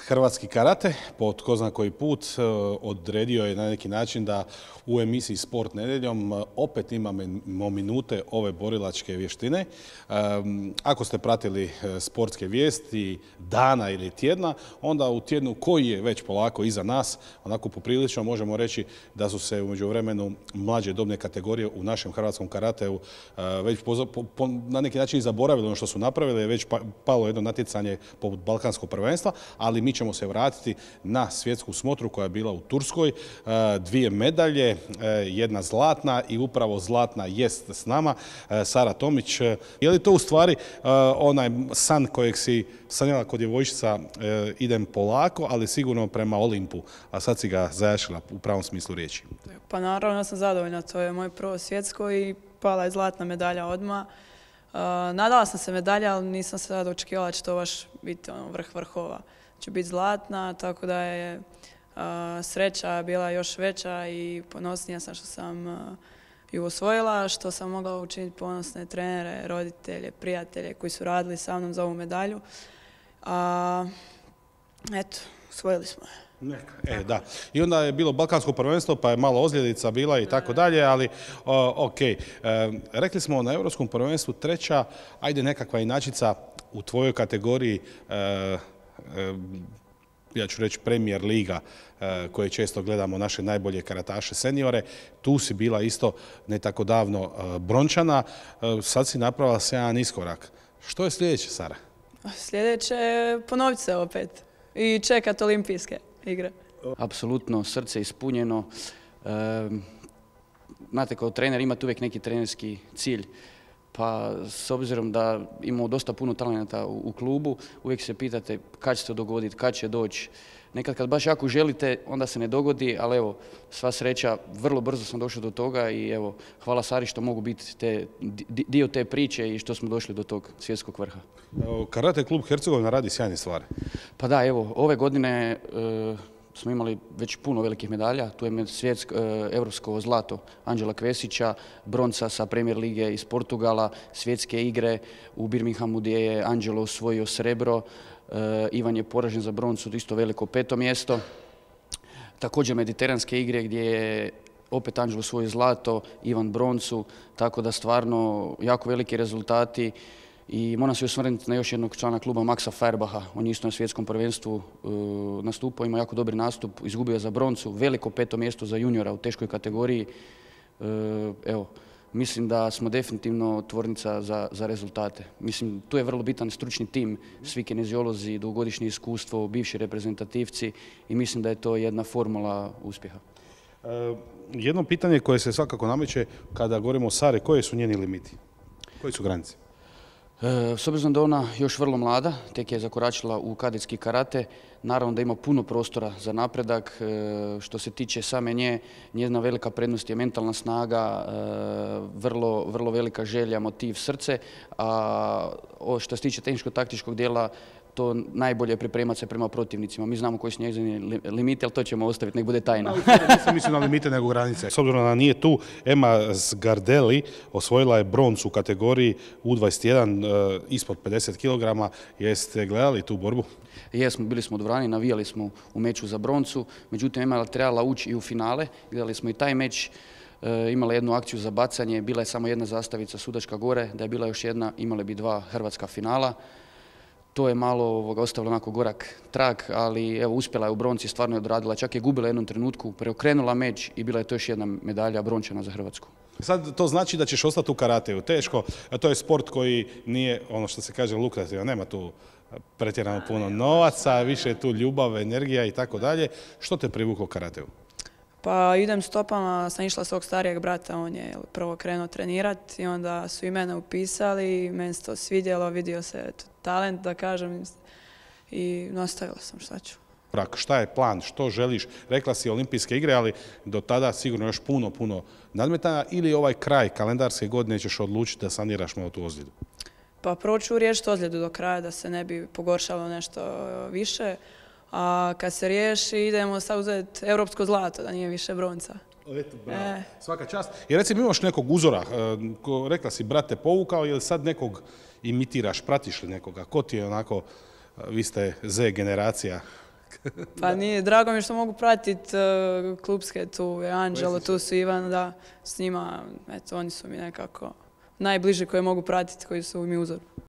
Hrvatski karate, po tko zna koji put, odredio je na neki način da u emisiji Sport nedjeljom opet imamo minute ove borilačke vještine. Ako ste pratili sportske vijesti dana ili tjedna, onda u tjednu koji je već polako iza nas, onako poprilično možemo reći da su se u međuvremenu mlađe dobne kategorije u našem hrvatskom karateu već na neki način zaboravili ono što su napravili, je već palo jedno natjecanje poput Balkanskog prvenstva, ali mi ćemo se vratiti na svjetsku smotru koja je bila u Turskoj. 2 medalje, jedna zlatna i upravo zlatna jest s nama, Sara Tomić. Je li to u stvari onaj san kojeg si sanjala kod djevojčica, idem polako, ali sigurno prema Olimpu, a sad si ga zajašila u pravom smislu riječi? Pa naravno sam zadovoljna, to je moj prvo svjetsko i pala je zlatna medalja odmah. Nadala sam se medalja, ali nisam se sad očekivala da će to baš biti vrh vrhova. Će biti zlatna, tako da je sreća bila još veća i ponosnija sam što sam ju osvojila, što sam mogla učiniti ponosne trenere, roditelje, prijatelje koji su radili sa mnom za ovu medalju. Eto, osvojili smo je. Da. I onda je bilo Balkansko prvenstvo, pa je malo ozljedica bila i tako dalje, ali ok. Rekli smo na Europskom prvenstvu 3. ajde nekakva inačica u tvojoj kategoriji, ja ću reći Premier liga, koje često gledamo naše najbolje karataše seniore. Tu si bila isto ne tako davno brončana, sad si napravila sjajan iskorak. Što je sljedeće, Sara? Sljedeće je ponoviti se opet i čekati olimpijske igre. Apsolutno, srce ispunjeno. Znate, kao trener imate uvijek neki trenerski cilj. Pa s obzirom da imamo dosta puno talenta u klubu, uvijek se pitate kad će se dogoditi, kad će doći. Nekad kad baš jako želite, onda se ne dogodi, ali evo, sva sreća, vrlo brzo sam došao do toga i evo, hvala Sari što mogu biti dio te priče i što smo došli do tog svjetskog vrha. Karate klub Hercegovina radi sjajne stvari. Pa da, evo, ove godine smo imali već puno velikih medalja. Tu je evropsko zlato Anđela Kvesića, bronca sa Premier lige iz Portugala, svjetske igre u Birminghamu gdje je Anđelo osvojio srebro, Ivan je poražen za broncu, isto veliko 5. mjesto. Također mediteranske igre gdje je opet Anđelo osvojio zlato, Ivan broncu, tako da stvarno jako veliki rezultati. I moram se osvrnuti na još jednog člana kluba, Maxa Feuerbacha. On je isto na svjetskom prvenstvu nastupao, ima jako dobri nastup, izgubio je za broncu, veliko 5. mjesto za juniora u teškoj kategoriji. Evo, mislim da smo definitivno tvornica za rezultate. Mislim, tu je vrlo bitan stručni tim, svi kineziolozi, dugogodišnje iskustvo, bivši reprezentativci i mislim da je to jedna formula uspjeha. Jedno pitanje koje se svakako nameće kada govorimo o Sari, koji su njeni limiti? Koji su granice? S obzirom da ona još vrlo mlada, tek je zakoračila u kadetski karate, naravno da ima puno prostora za napredak. Što se tiče same nje, njezina velika prednost je mentalna snaga, vrlo velika želja, motiv, srce, a što se tiče tehničko-taktičkog dijela, to najbolje je pripremati se prema protivnicima. Mi znamo koji su njezini limiti, ali to ćemo ostaviti, nek bude tajna. Nisam mislio na limite nego granice. S obzirom da nije tu, Emma Zgardelli osvojila je broncu u kategoriji U21 ispod 50 kg. Jeste gledali tu borbu? Jesmo, bili smo u dvorani, navijali smo u meču za broncu, međutim Emma je trebala ući i u finale. Gledali smo i taj meč, imala jednu akciju za bacanje, bila je samo jedna zastavica sudačka gore, da je bila još jedna, imale bi 2 hrvatska finala. To je malo ostavilo onako gorak trag, ali evo, uspjela je u bronci, stvarno je odradila, čak je gubila u jednom trenutku, preokrenula meč i bila je to još jedna medalja brončana za Hrvatsku. Sad to znači da ćeš ostati u karateju, teško, a to je sport koji nije, ono što se kaže, lukrativan, nema tu pretjerano puno novaca, više je tu ljubav, energija i tako dalje. Što te privuklo karateu? Pa idem stopama, sam išla svog starijeg brata, on je prvo krenuo trenirati i onda su i mene upisali, meni se to svidjelo, vidio se talent, da kažem, i nastavila sam, šta ću. Šta je plan, što želiš? Rekla si olimpijske igre, ali do tada sigurno još puno nadmetanja, ili ovaj kraj kalendarske godine ćeš odlučiti da saniraš malo tu ozljedu? Pa prvo ću riješiti ozljedu do kraja, da se ne bi pogoršalo nešto više. A kad se riješi, idemo sad uzeti europsko zlato, da nije više bronca. Eto, bravo. Svaka čast. I recimo imaš nekog uzora, rekla si brate povukao, ili sad nekog imitiraš, pratiš li nekoga? Ko ti je onako, vi ste Z generacija? Pa nije, drago mi je što mogu pratiti klubske, tu je Anđelo, tu su Ivan, da, s njima, eto, oni su mi nekako najbliži koje mogu pratiti, koji su mi uzor.